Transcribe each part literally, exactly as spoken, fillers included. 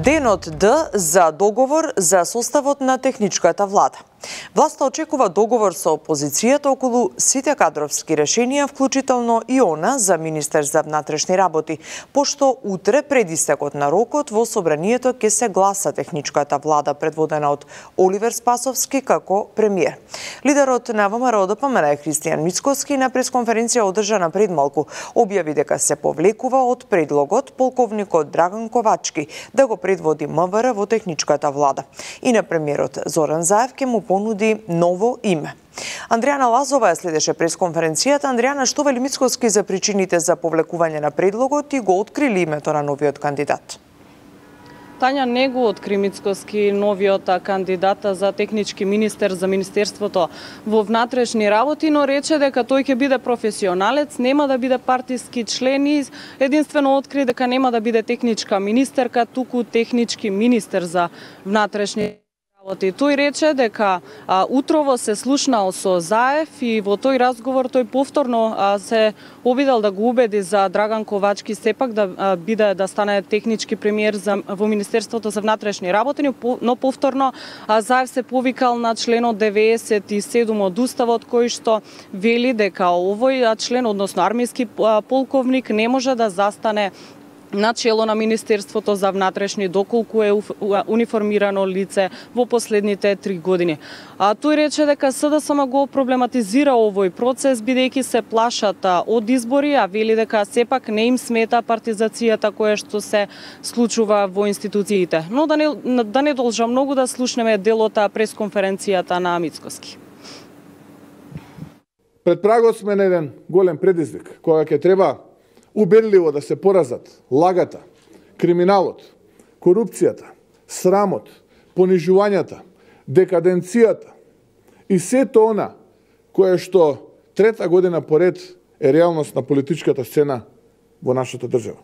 Денот Д за договор за составот на техничката влада. Власта очекува договор со опозицијата околу сите кадровски решенија, вклучително и она за министер за внатрешни работи, пошто утре пред истекот на рокот во собранието ќе се гласа техничката влада предводена од Оливер Спасовски како премиер. Лидерот на ВМРО Д П М Н Христијан Мицкоски на пресконференција одржана пред малку објави дека се повлекува од предлогот полковникот Драган Ковачки да го предводи М В Р во техничката влада. И на премиерот Зоран Заев ќе му понуди ново име. Андријана Лазова следеше пресконференцијата. Андријана, што вели Мицкоски за причините за повлекување на предлогот и го открили името на новиот кандидат? Тања не го откри Мицкоски новиот кандидат за технички министер за Министерството во внатрешни работи, но рече дека тој ќе биде професионалец, нема да биде партиски член и единствено откри дека нема да биде техничка министерка, туку технички министер за внатрешни работи. Тој рече дека а, утрово се слушнал со Заев и во тој разговор тој повторно а, се обидел да го убеди за Драган Ковачки сепак да а, биде да стане технички премиер за, во Министерството за внатрешни работи, но повторно а, Заев се повикал на членот деветдесет и седум од Уставот, кој што вели дека овој член, односно армиски полковник, не може да застане на чело на Министерството за внатрешни доколку е униформирано лице во последните три години. А тој рече дека С Д С М го проблематизира овој процес бидејќи се плашат од избори, а вели дека сепак не им смета партизацијата која што се случува во институциите. Но да не да не должам многу да слушнеме делот пресконференцијата на Мицкоски. Пред прагот сме на еден голем предизвик, кога ќе треба убедливо да се поразат лагата, криминалот, корупцијата, срамот, понижувањата, декаденцијата и сето она кое што трета година поред е реалност на политичката сцена во нашата држава.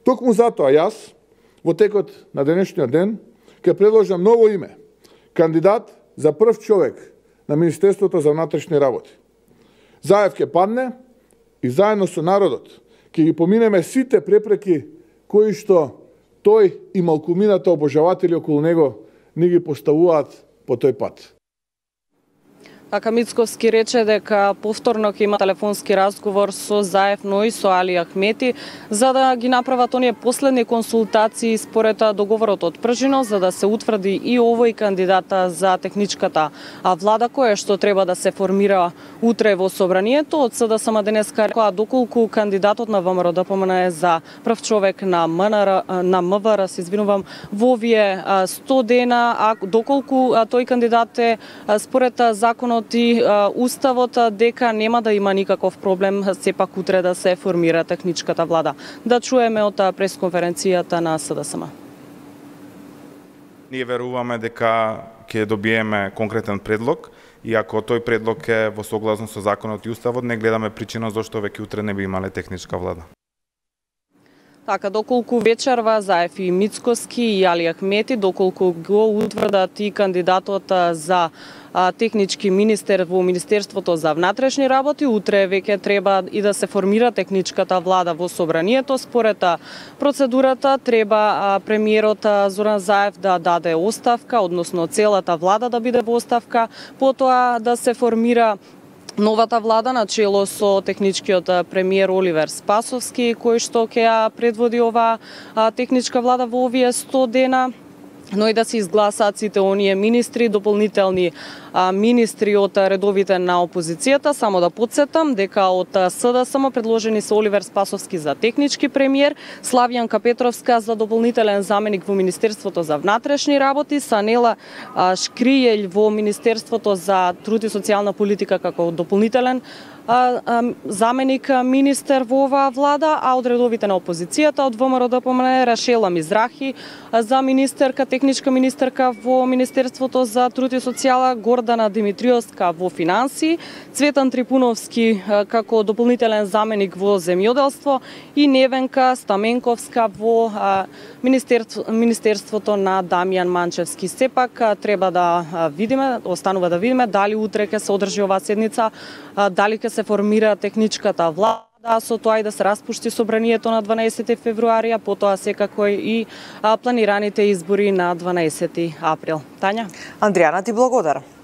Токму затоа јас, во текот на денешниот ден, ќе предложам ново име, кандидат за прв човек на Министерството за внатрешни работи. Заев ќе падне и заедно со народот ќе ги поминеме сите препреки кои што тој и малкумината обожаватели околу него ни ги поставуваат по тој пат. Така Мицкоски рече дека повторно ќе има телефонски разговор со Заев, но и со Али Ахмети, за да ги направат оние последни консултации според договорот од Пржино, за да се утврди и овој кандидата за техничката влада, која што треба да се формира утре во собранието. Од С Д С М денеска рекоа доколку кандидатот на ВМРО Д П М Н за прв човек на М Н Р, на М В Р, се извинувам, во овие сто дена, а доколку тој кандидат е според законот и Уставот, дека нема да има никаков проблем сепак утре да се формира техничката влада. Да чуеме од пресконференцијата на С Д С М. Ние веруваме дека ќе добиеме конкретен предлог и ако тој предлог е во согласно со законот и Уставот, не гледаме причина зашто веќе утре не би имале техничка влада. Така, доколку вечерва Заев и Мицкоски и Али Ахмети, доколку го утврдат и кандидатот за а, технички министер во Министерството за внатрешни работи, утре веќе треба и да се формира техничката влада во собранието. Според процедурата треба а, премиерот а, Зоран Заев да даде оставка, односно целата влада да биде во оставка, потоа да се формира новата влада на чело со техничкиот премиер Оливер Спасовски, кој што ќе ја предводи оваа техничка влада во овие сто дена, но и да се изгласаат сите оние министри, дополнителни а, министри од редовите на опозицијата. Само да подсетам дека од С Д С М предложени се Оливер Спасовски за технички премиер, Славјанка Петровска за дополнителен заменик во Министерството за внатрешни работи, Санела а, Шкријелј во Министерството за труд и социјална политика како дополнителен а, а, заменик министер во оваа влада, а од редовите на опозицијата од В М Р Д П М Н Рашела Мизрахи за министерка, техничка министерка во Министерството за труд и социјала, Гордана Димитриовска во финансии, Цветан Трипуновски како дополнителен заменик во земјоделство и Невенка Стаменковска во Министерство, Министерството на Дамјан Манчевски. Сепак треба да видиме, останува да видиме дали утре ќе се одржи оваа седница, дали ќе се формира техничката влада, Да, со тоа и да се распушти собранието на дванаесети февруари, а потоа секако и а, планираните избори на дванаесети април. Тања? Андријана, ти благодарам.